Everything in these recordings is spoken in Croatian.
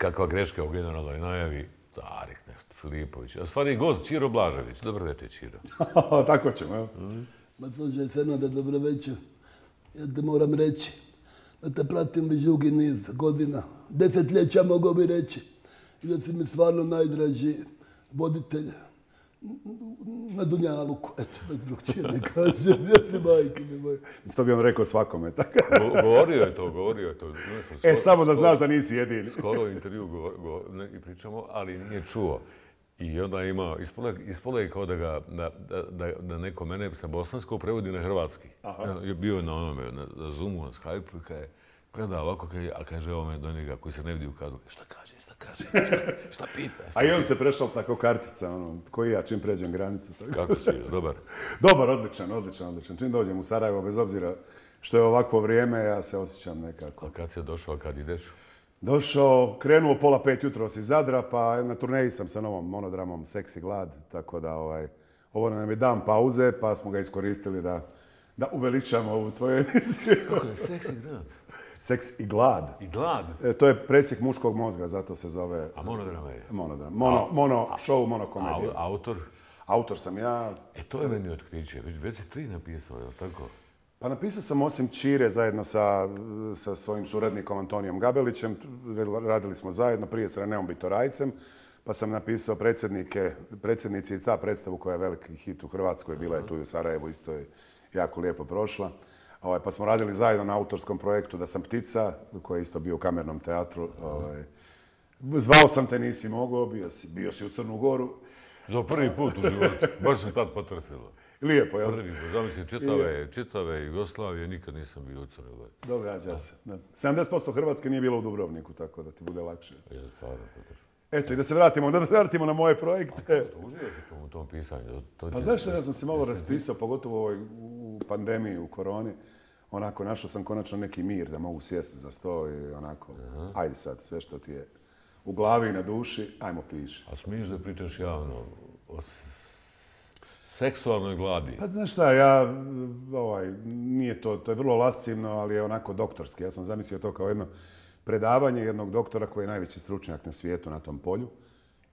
kakva greška u generalnoj najavi. Tarik nešto, Filipović. A stvari gost, Čiro Blažević. Dobro večer, Čiro. Tako ćemo, evo. Ma slušaj, Fernande, dobro večer. Ja te moram reći da te pratim već dugi niz godina. Desetljeća mogu bi reći. I da si mi stvarno najdraži voditelj na Dunjaluku. Eto, da drugčije ne kažem. Ja si majke mi moje. To bi on rekao svakome, tako. Govorio je to. Samo da znaš da nisi jedini. Skoro u intervju i pričamo, ali nije čuo. I onda je imao, ispalo je kao da neko mene sa bosanskog prevodi na hrvatski. Bio je na onome, na Zoomu, na Skype-u i kaže, gleda ovako, a kaže ovome do njega koji se ne vidi u kadru, šta kaže, šta pita. A i on se prešao tako kartica, koji ja čim pređem granicu. Kako si, dobar? Dobar, odličan. Čim dođem u Sarajevo, bez obzira što je ovakvo vrijeme, ja se osjećam nekako. A kad si došao, kad ideš? Došao, krenuo 4:30 jutros iz Zadra, pa na turneji sam sa novom monodramom Seks i glad, tako da ovo nam je dan pauze, pa smo ga iskoristili da uveličamo ovu tvoju emisiju. Kako je Seks i glad? Seks i glad. I glad? To je presjek muškog mozga, zato se zove... A monodrama je? Monodram. Show, monokomedija. Autor? Autor sam ja. To je meni otkriće. Već si 3 napisao, je li tako? Pa napisao sam osim Čire zajedno sa svojim suradnikom Antonijom Gabelićem. Radili smo zajedno prije s Reneom Bitorajcem. Pa sam napisao predsjednici i ca predstavu koja je veliki hit u Hrvatskoj. Bila je tu i u Sarajevu, isto je jako lijepo prošla. Pa smo radili zajedno na autorskom projektu Da sam ptica, koji je isto bio u Kamernom teatru. Zvao sam te, nisi mogao, bio si u Crnu Goru. Za prvi put u životu. Baš sam tad potrefilo. Lijepo, jel? Prvi put. Zamislim, čitave Jugoslavije, nikad nisam bio u Crnoj Gori. Događa se. 70% Hrvatske nije bilo u Dubrovniku, tako da ti bude lakše. Eto, i da se vratimo na moje projekte. Uživao si u tom pisanju? Pa znaš što, ja sam se malo raspisao, pogotovo u pandemiji, u koroni. Onako, našao sam konačno neki mir da mogu sjesti za sto i onako, ajde sad, sve što ti je u glavi i na duši, ajmo piši. A smiješ da pričaš javno o seksualnoj gladi? Pa znaš šta, nije to je vrlo lascivno, ali je onako doktorski. Ja sam zamislio to kao jedno predavanje jednog doktora koji je najveći stručnjak na svijetu na tom polju.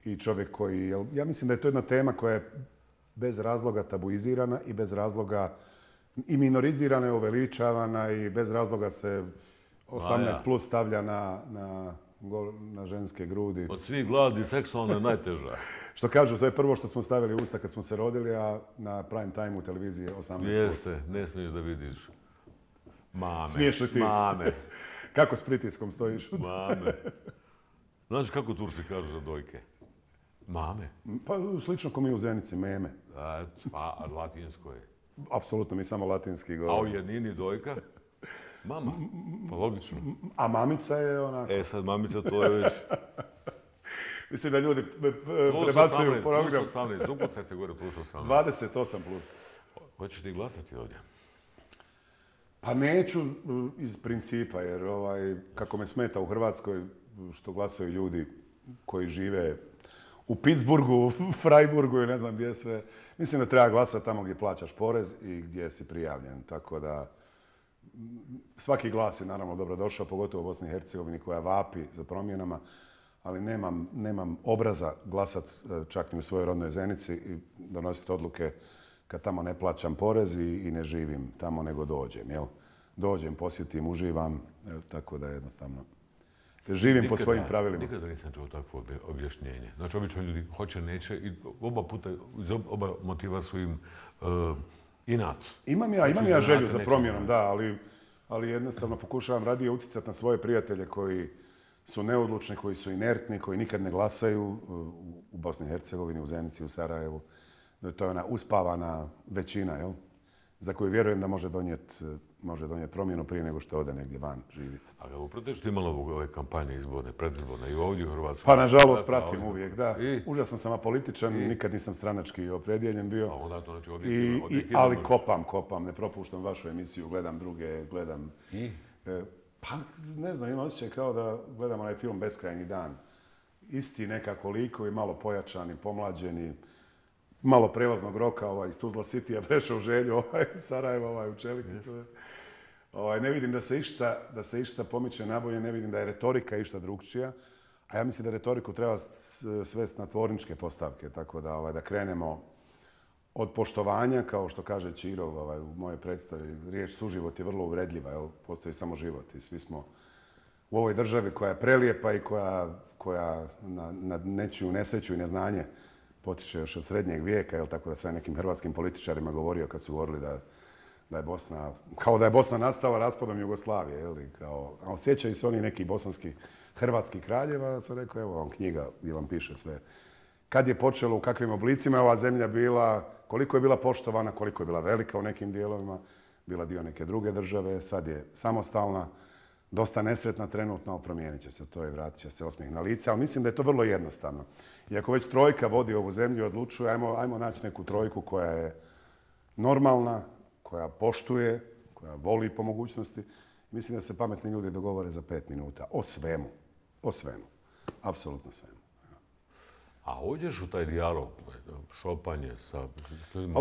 I čovjek koji, ja mislim da je to jedna tema koja je bez razloga tabuizirana i bez razloga i minorizirana i uveličavana i bez razloga se 18 plus stavlja na ženske grudi. Od svih gladi seksualno je najteža. Što kažu, to je prvo što smo stavili u usta kad smo se rodili, a na prime time u televiziji 18 plus. Jeste, ne smiješ da vidiš. Mame. Smiješ li ti? Mame. Kako s pritiskom stojiš? Mame. Znaš kako Turci kažu za dojke? Mame. Pa slično ko mi u Zenici, meme. A latinsko je? Apsolutno, mi samo latinski govorimo. A u jednini dojka? Mama. Pa logično. A mamica je onako... Sad mamica to je već... Mislim da ljudi prebacuju program. Plus 18, upucajte gore plus 18. 28 plus. Hoćeš ti glasati ovdje? Pa neću iz principa, jer kako me smeta u Hrvatskoj što glasaju ljudi koji žive u Pittsburghu, Freiburgu i ne znam gdje sve. Mislim da treba glasati tamo gdje plaćaš porez i gdje si prijavljen. Tako da svaki glas je naravno dobrodošao, pogotovo u Bosni i Hercegovini koja vapi za promjenama, ali nemam obraza glasat čak ni u svojoj rodnoj Zenici i donositi odluke kad tamo ne plaćam porez i ne živim tamo nego dođem. Jel? Dođem, posjetim, uživam, tako da jednostavno živim po svojim pravilima. Nikada nisam čuo takvo objašnjenje. Znači, obično ljudi hoće, neće i oba puta, iz oba motiva su im inat. Imam ja želju za promjenom, da, ali jednostavno pokušavam radije utjecati na svoje prijatelje koji su neodlučni, koji su inertni, koji nikad ne glasaju u Bosni i Hercegovini, u Zenici, u Sarajevu. To je ona uspavana većina, jel? Za koju vjerujem da može donijeti promjenu prije nego što ode negdje van živjeti. A kako proteš ti imalo ove kampanje izborne, predizborne i ovdje u Hrvatskoj? Pa nažalost pratim uvijek, da. Užasno sam apolitičan, nikad nisam stranački opredijeljen bio. A onda to znači ali kopam, ne propuštam vašu emisiju, gledam druge, gledam... Pa ne znam, imam osjećaj kao da gledam onaj film Beskrajni dan. Isti nekako likovi, malo pojačani, pomlađeni, malo prelaznog roka iz Tuzla City-a prešao u Želju, Sarajeva, u Čeliki. Ne vidim da se išta pomiče nabolje, ne vidim da je retorika išta drugčija, A ja mislim da retoriku treba svesti na tvorničke postavke, tako da krenemo od poštovanja, kao što kaže Ćiro u mojoj predstavi. Riječ suživot je vrlo uvredljiva, postoji samo život i svi smo u ovoj državi koja je prelijepa i koja na nečiju nesreću i neznanje potiče još od srednjeg vijeka, tako da sam nekim hrvatskim političarima govorio kad su govorili da je Bosna, kao da je Bosna nastala raspadom Jugoslavije, a osjećaju se oni neki bosanski hrvatski kraljeva, sam rekao, evo vam knjiga gdje vam piše sve. Kad je počelo, u kakvim oblicima je ova zemlja bila, koliko je bila poštovana, koliko je bila velika u nekim dijelovima, bila dio neke druge države, sad je samostalna, dosta nesretna trenutno, promijenit će se to i vratit će se osmijeh na lice, ali mislim da je to vrlo jednostavno. I ako već trojka vodi ovu zemlju i odlučuje, ajmo naći neku trojku koja je normalna, koja poštuje, koja voli po mogućnosti. Mislim da se pametni ljudi dogovore za 5 minuta. O svemu. O svemu. Apsolutno svemu. A uđeš u taj dijalog, šopanje sa ljudima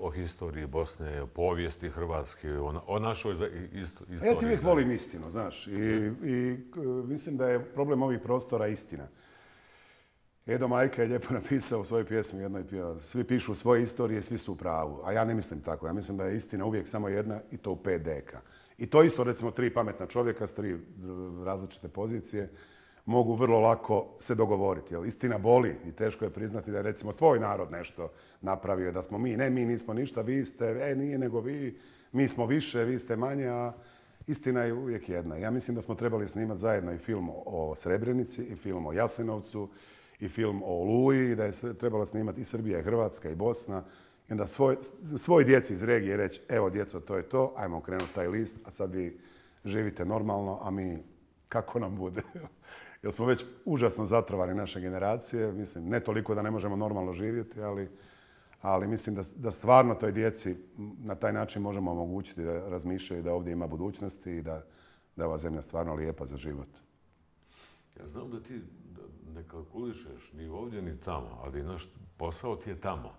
o historiji Bosne, o povijesti Hrvatske, o našoj istoriji. Ja ti uvijek volim istinu, znaš. I mislim da je problem ovih prostora istina. Edo Majka je lijepo napisao u svojoj pjesmi jednoj, svi pišu svoje istorije, svi su u pravu. A ja ne mislim tako. Ja mislim da je istina uvijek samo jedna i to u 5 deka. I to isto, recimo, 3 pametna čovjeka s 3 različite pozicije mogu vrlo lako se dogovoriti. Jer istina boli i teško je priznati da je, recimo, tvoj narod nešto napravio, da smo mi. Ne, mi nismo ništa, vi ste, nije nego vi, mi smo više, vi ste manje, a istina je uvijek jedna. Ja mislim da smo trebali snimati zajedno i film o Srebrenici, i film o Jasenovcu, i film o Oluji, da je trebalo snimati i Srbija, i Hrvatska, i Bosna. I onda svoj djeci iz regije reći, evo djeco, to je to, ajmo okrenuti taj list, a sad vi živite normalno, a mi kako nam bude. Jer smo već užasno zatrovani naše generacije, mislim, ne toliko da ne možemo normalno živjeti, ali mislim da stvarno toj djeci na taj način možemo omogućiti da razmišljaju da ovdje ima budućnosti i da je ova zemlja stvarno lijepa za život. Ja znam da ti ne kalkulišeš ni ovdje ni tamo, ali naš posao ti je tamo.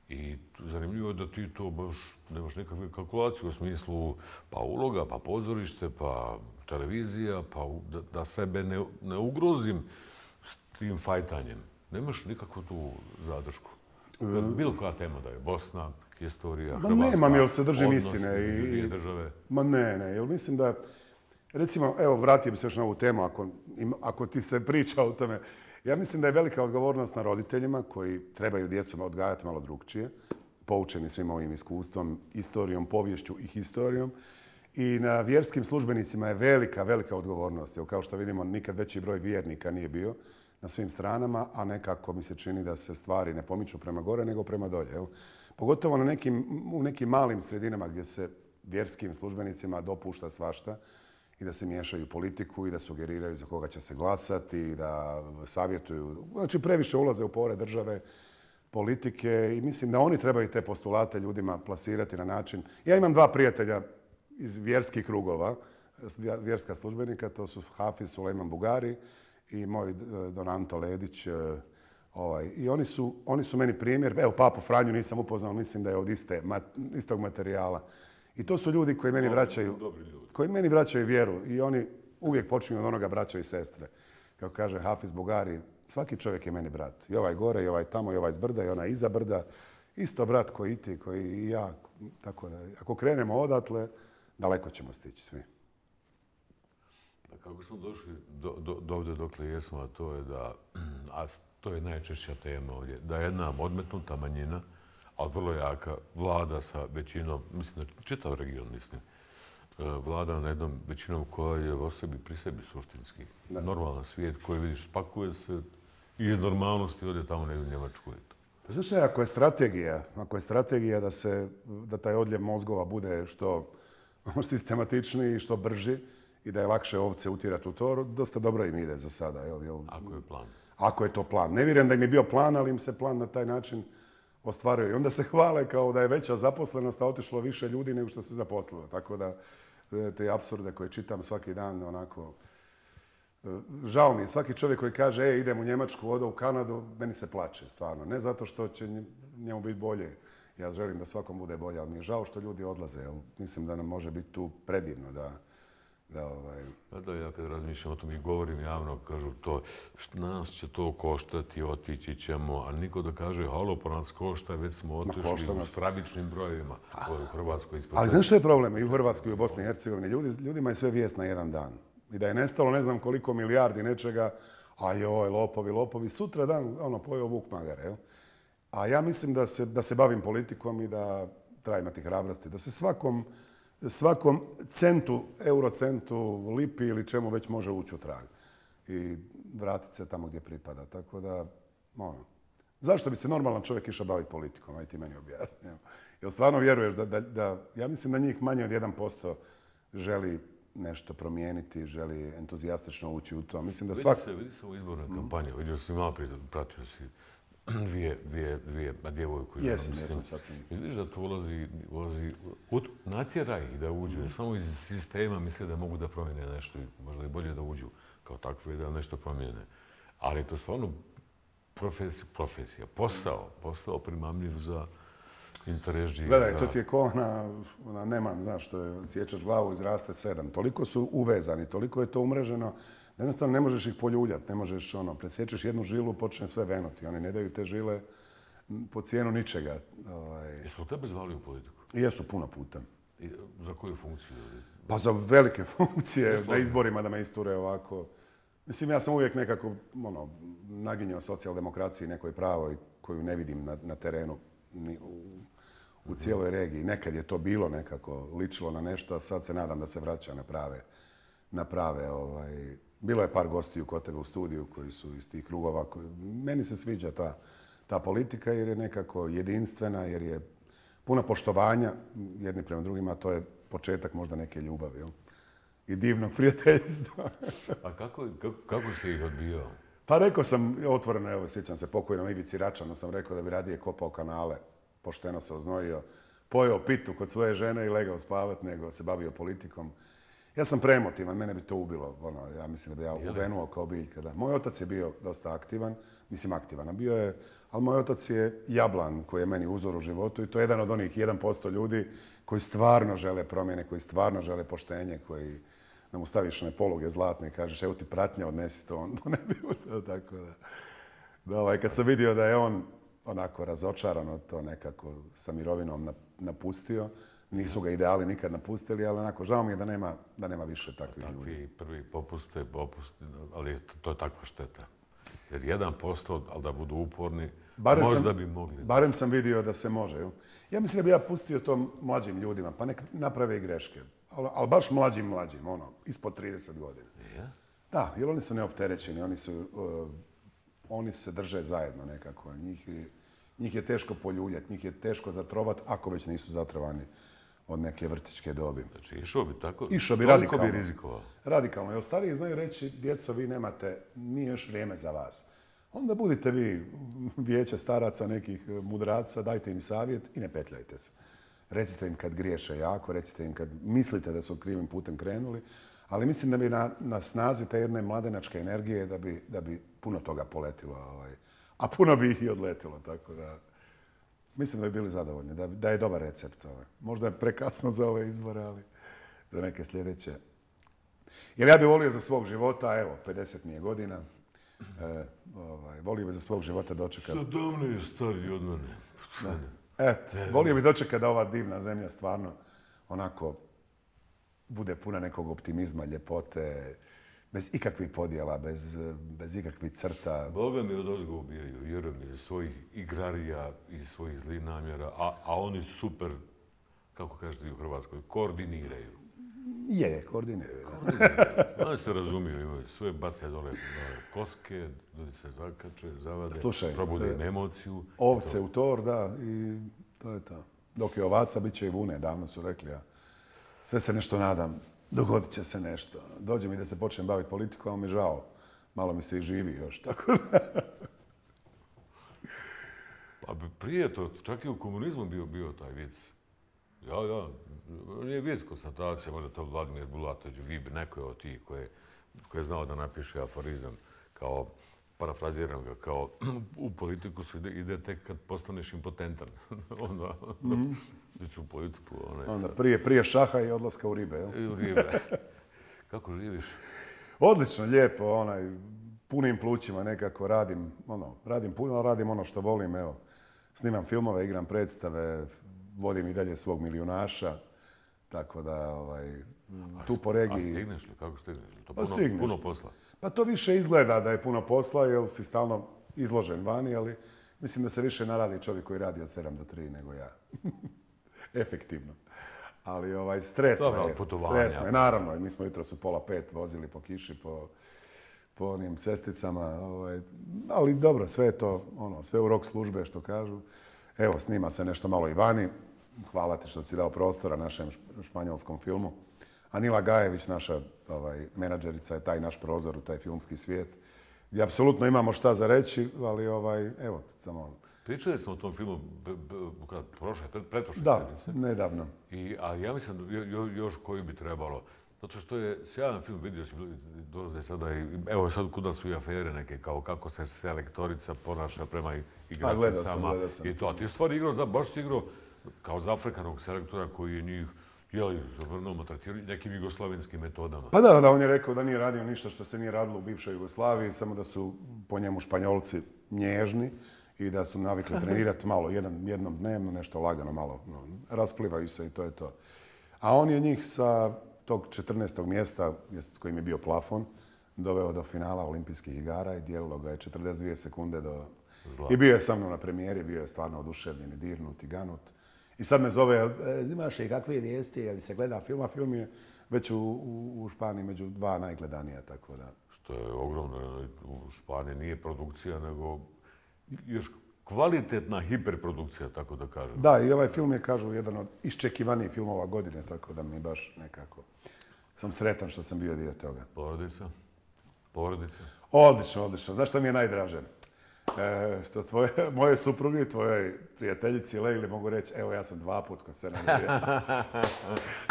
I zanimljivo je da ti to baš nemaš nekakve kalkulacije u smislu pa uloga, pa pozorište, pa televizija, pa da sebe ne ugrozim s tim fajtanjem. Nemaš nikakvu tu zadršku. Bilo koja tema da je Bosna, historija, Hrvatska, nemam, jer se držim istine. Dvije države. Ma ne, jer mislim da, recimo, evo, vratio bi se još na ovu temu, ako ti se priča o tome. Ja mislim da je velika odgovornost na roditeljima koji trebaju djecu odgajati malo drugčije, poučeni svim ovim iskustvom, istorijom, poviješću i historijom. I na vjerskim službenicima je velika, velika odgovornost. Jer kao što vidimo, nikad veći broj vjernika nije bio na svim stranama, a nekako mi se čini da se stvari ne pomiču prema gore, nego prema dolje. Jel? Pogotovo u nekim malim sredinama gdje se vjerskim službenicima dopušta svašta i da se miješaju u politiku i da sugeriraju za koga će se glasati i da savjetuju. Znači, previše ulaze u pore države, politike i mislim da oni trebaju te postulate ljudima plasirati na način. Ja imam 2 prijatelja iz vjerskih krugova, vjerska službenika, to su Hafiz Sulejman Bugari i moj Don Anto Ledić. I oni su meni primjer. Evo, Papu Franju nisam upoznao, mislim da je od istog materijala. I to su ljudi koji meni vraćaju vjeru i oni uvijek počinju od onoga braća i sestre. Kako kaže Hafiz Bugari, svaki čovjek je meni brat. I ovaj gore, i ovaj tamo, i ovaj s brda, i onaj iza brda. Isto brat koji i ti, koji i ja. Tako da, ako krenemo odatle, daleko ćemo stići svi. A kako smo došli do ovdje dokle jesmo, a to je a to je najčešća tema ovdje, da jedna odmetnuta manjina, ali vrlo jaka, vlada sa većinom, mislim da čitav region, mislim, vlada na jednom većinom koja je pri sebi suštinski. Normalan svijet koji vidiš, spakuje se i iz normalnosti ode tamo u Njemačku. Znaš šta, ako je strategija da taj odljev mozgova bude što sistematičniji i što brži i da je lakše ovce utjerati u to, dosta dobro im ide za sada. Ako je plan. Ako je to plan. Ne vjerujem da im je bio plan, ali im se plan na taj način ostvaruje. I onda se hvale kao da je veća zaposlenost, a otišlo više ljudi nego što se zaposlilo. Tako da te apsurde koje čitam svaki dan, onako, žao mi je. Svaki čovjek koji kaže, idem u Njemačku, odo u Kanadu, meni se plače, stvarno. Ne zato što će njemu biti bolje. Ja želim da svakom bude bolje, ali mi je žao što ljudi odlaze. Jer mislim da nam može biti tu predivno, da Da, ja kad razmišljam o tom i govorim javno, kažu to, nas će to koštati, otići ćemo, a niko da kaže, halo, pa nas košta, već smo otišli u stravičnim brojevima. To je u Hrvatskoj ispod. Ali znaš što je problem i u Hrvatskoj i u Bosni i Hercegovini? Ljudima je sve vijest na jedan dan. I da je nestalo ne znam koliko milijardi nečega, a joj, lopovi, sutra dan, pojeo vuk magare, jel? A ja mislim da se bavim politikom i da treba imati hrabrosti, da se svakom centu, eurocentu, lipi ili čemu već može ući u trag i vratiti se tamo gdje pripada. Tako da, zašto bi se normalan čovjek išao baviti politikom? Aj ti meni objasni. Jel stvarno vjeruješ da ja mislim da njih manje od 1% želi nešto promijeniti, želi entuzijastično ući u to. Mislim da Vidi se u izbornoj kampanji, vidio si malo prije, pratio si dvije djevojku. Jesam, sad sam. Vidiš da to ulazi, natjera ih da uđu, samo iz sistema misle da mogu da promijene nešto, možda i bolje da uđu kao takve da nešto promijene. Ali to je stvarno profesija, posao primamljiv za interes. Gledaj, to ti je ko ona Neman, znaš, što je sjećaš glavu, izraste 7. Toliko su uvezani, toliko je to umreženo, da jednostavno ne možeš ih poljuljati, ne možeš, presjećeš jednu žilu, počne sve venuti. Oni ne daju te žile po cijenu ničega. Jesu li tebe zvali u politiku? Jesu, puno puta. I za koju funkciju? Pa za velike funkcije, na izborima da me isture ovako. Mislim, ja sam uvijek nekako naginjao socijaldemokraciji nekoj pravoj koju ne vidim na terenu u cijeloj regiji. Nekad je to bilo nekako, ličilo na nešto, a sad se nadam da se vraća na prave. Bilo je par gostiju kod tebe u studiju koji su iz tih krugova. Meni se sviđa ta politika jer je nekako jedinstvena, jer je puna poštovanja jedni prema drugima, a to je početak možda neke ljubavi. Jel? I divnog prijateljstva. A kako si ih odbijao? Pa rekao sam otvoreno, evo sjećam se pokojnom Ivici Račanu, sam rekao da bi radije kopao kanale, pošteno se oznojio, pojeo pitu kod svoje žene i legao spavat, nego se bavio politikom. Ja sam preemotivan, mene bi to ubilo. Ja mislim da bi ja uvenuo kao biljka. Moj otac je bio dosta aktivan, a bio je, ali moj otac je jablan koji je meni uzor u životu i to je jedan od onih 1% ljudi koji stvarno žele promjene, koji stvarno žele poštenje, koji da mu staviš one poluge zlatne i kažeš evo ti pratnja, odnesi to, on to ne bi uzeo. Tako da kad sam vidio da je on onako razočaran od to nekako sa mirovinom napustio, nisu ga ideali nikad napustili, ali onako žao mi je da nema više takvih ljudi. Takvi prvi popuste, ali to je takva šteta. Jer 1%, ali da budu uporni, možda bi mogli. Barem sam vidio da se može. Jel? Ja mislim da bi ja pustio to mlađim ljudima, pa nek naprave i greške. Ali baš mlađim, ispod 30 godina. Ja? Da, jer oni su neopterećeni, oni se drže zajedno nekako. Njih je teško poljuljati, njih je teško zatrovati, ako već nisu zatrovani od neke vrtićke dobi. Znači, išao bi tako? Išao bi radikalno. Koliko bi rizikovao? Radikalno. Jer stariji znaju reći, djeco, vi nemate, nije još vrijeme za vas. Onda budite vi vijeće staraca, nekih mudraca, dajte im savjet i ne petljajte se. Recite im kad griješe jako, recite im kad mislite da su krivim putem krenuli, ali mislim da bi na snazi te jedne mladenačke energije da bi puno toga poletilo, a puno bi ih i odletilo, tako da mislim da bi bili zadovoljni, da je dobar recept. Možda je prekasno za ove izbore, ali za neke sljedeće. Jer ja bih volio za svog života, evo, 50 mi je godina, volio bih za svog života dočekati. 17 stariji od mene. Volio bih dočekati da ova divna zemlja stvarno onako bude puna nekog optimizma, ljepote, bez ikakvih podjela, bez ikakvih crta. Boga mi odozgo ubijaju, vjerujem mi, svojih igrarija i svojih zlih namjera, a oni super, kako kažete u Hrvatskoj, koordiniraju. Koordiniraju. Oni se razumiju, imaju sve bace dole koske, ljudi se zakače, zavade, probude emociju. Ovce u tor, da, i to je to. Dok je ovaca, bit će i vune, davno su rekli. Ja. Sve se nešto nadam, dogodit će se nešto. Dođe mi da se počnem baviti politikom, ali mi žao. Malo mi se i živi još, tako da. Pa prije to, čak i u komunizmu bio taj vic. Ja, nije vic konstatacija, možda to Vladimir Bulatović, Vib, neko je od tih koji je znao da napiše aforizam, kao, parafraziram ga, kao u politiku se ide tek kad postaneš impotentan. Onda ići u politiku. Onda prije šaha i odlaska u ribe, jel? U ribe. Kako živiš? Odlično, lijepo, punim plućima nekako radim puno, ali radim ono što volim, evo. Snimam filmove, igram predstave, vodim i dalje svog milijunaša, tako da, tu po regiji... A stigneš li? Kako stigneš li? To puno posla. Pa to više izgleda da je puno posla, jer si stalno izložen vani, ali mislim da se više naradi čovjek koji radi od 7 do 3 nego ja. Efektivno. Ali stresno je. Stresno je, naravno. Mi smo jutros u 4:30 vozili po kiši, po onim cesticama. Ali dobro, sve je to, sve u rok službe, što kažu. Evo, snima se nešto malo i vani. Hvala ti što si dao prostora našem španjolskom filmu. Anila Gajević, naša menadžerica, je taj naš prozor u taj filmski svijet. I apsolutno imamo šta za reći, ali evo, samo... Pričali smo o tom filmu pretprošle Da, sedmice. nedavno. A ja mislim još koji bi trebalo. Zato što je sjajan film, vidio si, dolaze sada i... Evo sad kuda su i afere neke, kao kako se selektorica ponaša prema igračicama. Gledao sam. I to. A ti stvari igrao, da, baš si igrao kao zafrikanog selektora koji je njih zavrnuo tretirao nekim jugoslavenskim metodama. Pa da, on je rekao da nije radio ništa što se nije radilo u bivšoj Jugoslaviji, samo da su po njemu Španjolci nježni i da su navikli trenirati malo, jednom dnevno, nešto lagano malo, rasplivaju se i to je to. A on je njih sa tog 14. mjesta, kojim je bio plafon, doveo do finala olimpijskih igara i dijelilo ga je 42 sekunde do... I bio je sa mnom na premijeri, bio je stvarno oduševljen i dirnut i ganut. I sad me zove, imaš li kakve vijesti, je li se gleda film, a film je već u Španiji među 2 najgledanija, tako da... Što je ogromno, u Španiji nije produkcija, nego još kvalitetna hiperprodukcija, tako da kažem. Da, i ovaj film je, kažu, jedan od iščekivanijih filmova godine, tako da mi baš nekako... Sam sretan što sam bio dio toga. Porodica? Porodica? Odlično. Znaš što mi je najdraže? Što moje supruge i tvojoj prijateljici Lejli mogu reći, evo ja sam 2 put kod Sena Andrija.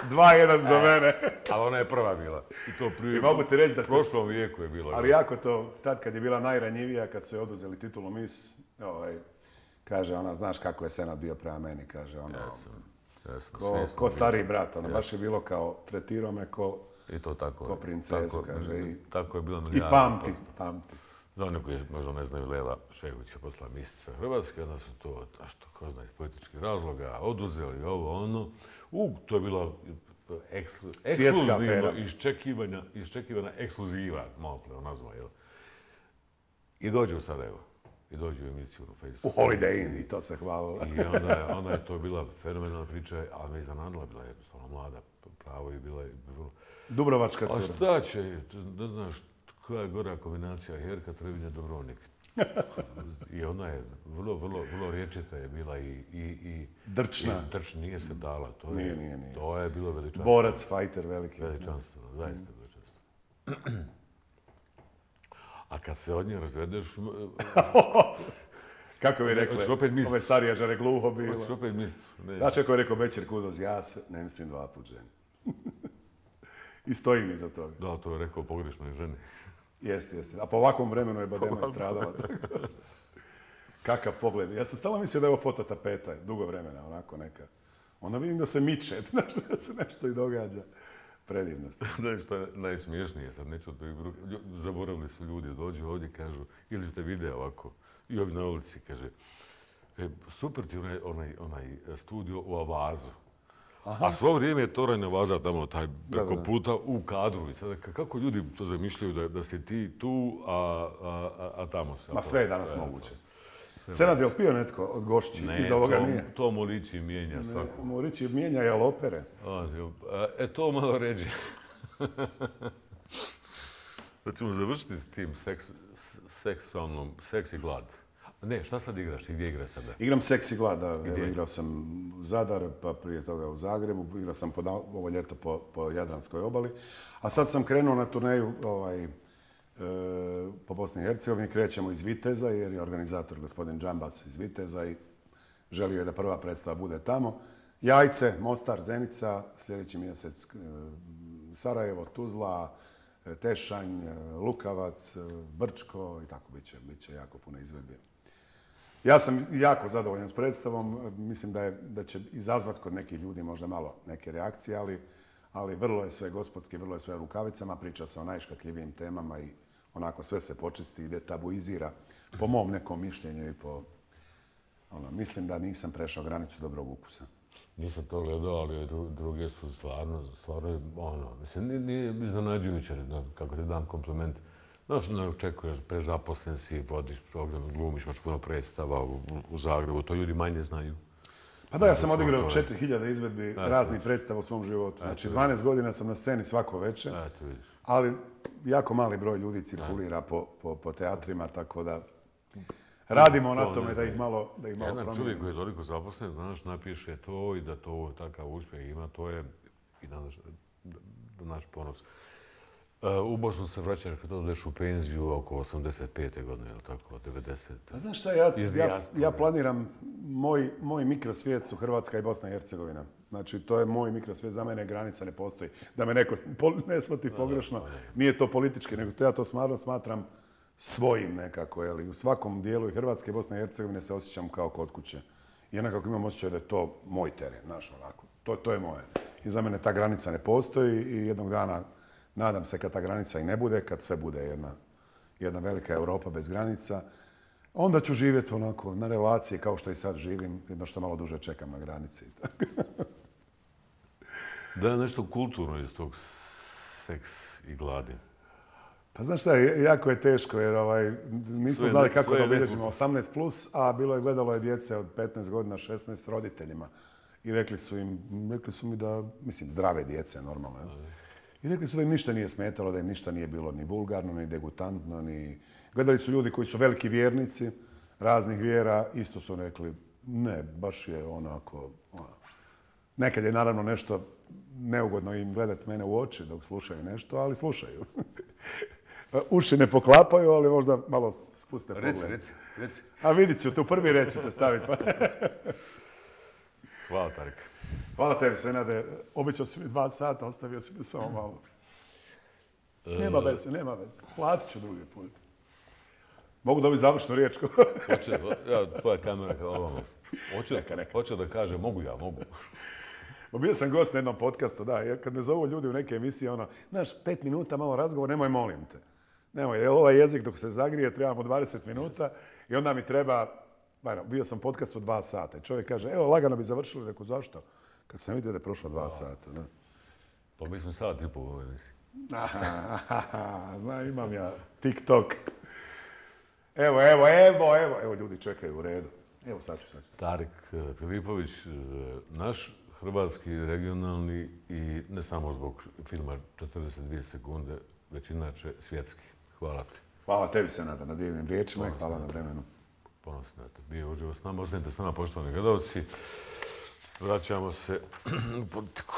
2-1 za mene. Ali ona je prva bila. I to I mogu ti reći da... U prošlom vijeku je bila. Ali jako to, tad kad je bila najranjivija, kad su je oduzeli titulu Miss, kaže ona, znaš kako je Senad bio prema meni, kaže ono... Ko stariji brat, baš je bilo kao, tretirao me ko princezu, kaže. Tako je bilo. I pamti. Za one koji možda ne znaju, Lela Šegović je postala mistica Hrvatske, onda su to, ko zna, iz političkih razloga oduzeli ovo, ono. To je bila ekskluzivno iščekivana ekskluziva, malo prema nazva, jel? I dođe u Sarajevo. I dođe u emisiju na Facebooku. U Holiday Inn, i to se hvalilo. I onda je to bila fenomenalna priča, ali me iznenadila, bila je jednostavno mlada, pravo i bila je vrlo... Dubrovačka cura. A šta će, ne znaš koja je gora kombinacija Herka, Trevinja, Dubrovnik. I ona je vrlo riječita je bila i... Drčna. Nije se dala. Nije. To je bilo veličanstvo. Borac, fajter veliki. Veličanstvo, zaista veličanstvo. A kad se od nje razvedeš... Kako bi rekli, ove starije žare gluho bilo. Hoćeš opet mislit. Znači ako je rekao Bećir Kudoz, ja se ne mislim 2 put ženi. I stojim iza toga. Da, to je rekao pogrešnoj ženi. Jeste. A po ovakvom vremenu je Badema stradala. Kakav pogled. Ja sam stalno mislio da je ovo fototapeta, dugo vremena, onako neka. Onda vidim da se miče, da se nešto i događa. Predivno se. Znaš što je najsmiješnije, sad neću zaboravili su ljudi, dođu ovdje, kažu, ili te vide ovako, i ovi na ulici, kaže, super ti onaj studio u Avazu. A svo vrijeme je Toranj Avaza tamo, taj preko puta u kadru. I sada, kako ljudi to zamišljaju da si ti tu, a tamo se... Ma sve je danas moguće. Senad je li pio netko od gošći? Iza ovoga nije? To Molići mijenja svako. Molići mijenja jalopere. To malo ređe. Da ćemo završiti s tim seksi glad. Ne, šta sad igraš i gdje igraš sada? Igram seksi glad, da. Igrao sam Zadar, pa prije toga u Zagrebu. Igrao sam ovo ljeto po Jadranskoj obali. A sad sam krenuo na turneju po Bosni i Hercegovini. Krećemo iz Viteza jer je organizator gospodin Džambas iz Viteza i želio je da prva predstava bude tamo. Jajce, Mostar, Zenica, sljedeći mjesec Sarajevo, Tuzla, Tešanj, Lukavac, Brčko i tako bit će jako puno izvedbi. Ja sam jako zadovoljan s predstavom. Mislim da će izazvati kod nekih ljudi možda malo neke reakcije, ali vrlo je sve gospodski, vrlo je sve u rukavicama, priča se o najškakljivijim temama i onako sve se počisti i detabuizira po mom nekom mišljenju i po... mislim da nisam prešao granicu dobrog ukusa. Nisam to gledao, ali druge su stvarno, mislim, nije iznenađujuće, kako ti dam kompliment. Znaš, ne očekuješ, prezaposlen si, vodiš program, glumiš, imaš puno predstava u Zagrebu, to ljudi manje znaju. Pa da, ja sam odigrao 4000 izvedbi raznih predstava u svom životu. Znači, 12 godina sam na sceni svako večer, ali jako mali broj ljudi cirkulira po teatrima, tako da radimo na tome da ih malo promijenimo. Jedan čovjek koji je toliko zaposlen, znaš, napiše to i da to takav uspjeh ima, to je i naš ponos. U Bosnu se vraćaš kad odeš u penziju oko 85. godine, ili tako, 90. A znaš šta, ja planiram, moj mikrosvijet su Hrvatska i Bosna i Hercegovina. Znači, to je moj mikrosvijet, za mene granica ne postoji. Da me neko ne shvati pogrešno, nije to politički, nego ja to smatram svojim nekako. Jeli. U svakom dijelu i Hrvatske i Bosne i Hercegovine se osjećam kao kod kuće. I jednako imam osjećaj da je to moj teren, znaš, onako. To je moje. I za mene ta granica ne postoji i jednog dana nadam se kad ta granica i ne bude, kad sve bude jedna velika Europa bez granica, onda ću živjeti onako na relaciji kao što i sad živim, jedno što malo duže čekam na granici. Da je nešto kulturno iz tog seks i gladi. Pa znaš šta, jako je teško jer nismo znali kako da obilježimo 18+, a gledalo je djece od 15 godina, 16 s roditeljima. I rekli su mi da, mislim, zdrave djece, normalno. I rekli su da im ništa nije smetalo, da im ništa nije bilo ni vulgarno, ni degutantno, ni... Gledali su ljudi koji su veliki vjernici raznih vjera, isto su rekli, ne, baš je onako... Nekad je naravno nešto neugodno im gledati mene u oči dok slušaju nešto, ali slušaju. Uši ne poklapaju, ali možda malo spuste pogled. Reci. A vidit ću, tu prvi red ću te staviti. Hvala, Tarik. Hvala tebi, Senade. Obećao si mi 2 sata, ostavio si mi samo malo. Nema veze. Platit ću drugi put. Mogu dobiti završnu riječ? Tvoja kamera kao ovamo. Hoće da kaže, mogu. Bio sam gost na jednom podcastu, da, kad me zovu ljudi u neke emisije, znaš, 5 minuta malo razgovor, nemoj, molim te. Nemoj, jer ovaj jezik dok se zagrije, trebamo 20 minuta i onda mi treba, bio sam podcast od 2 sata i čovjek kaže, evo, lagano bi završili, rekao, zašto? Kad sam vidio da je prošlo 2 sata, da. Pa mi smo sat i pol u ovoj emisiji. Znam, imam ja TikTok. Evo, ljudi čekaju u redu. Evo, sad ću. Tarik Filipović, naš hrvatski, regionalni i ne samo zbog filma 42 sekunde, već inače svjetski. Hvala ti. Hvala tebi, Senada, na divnim riječima i hvala na vremenu. Ponosno, bio uživo s nama. Ostanite s nama, poštovani gledalci. Vraćamo se u politiku.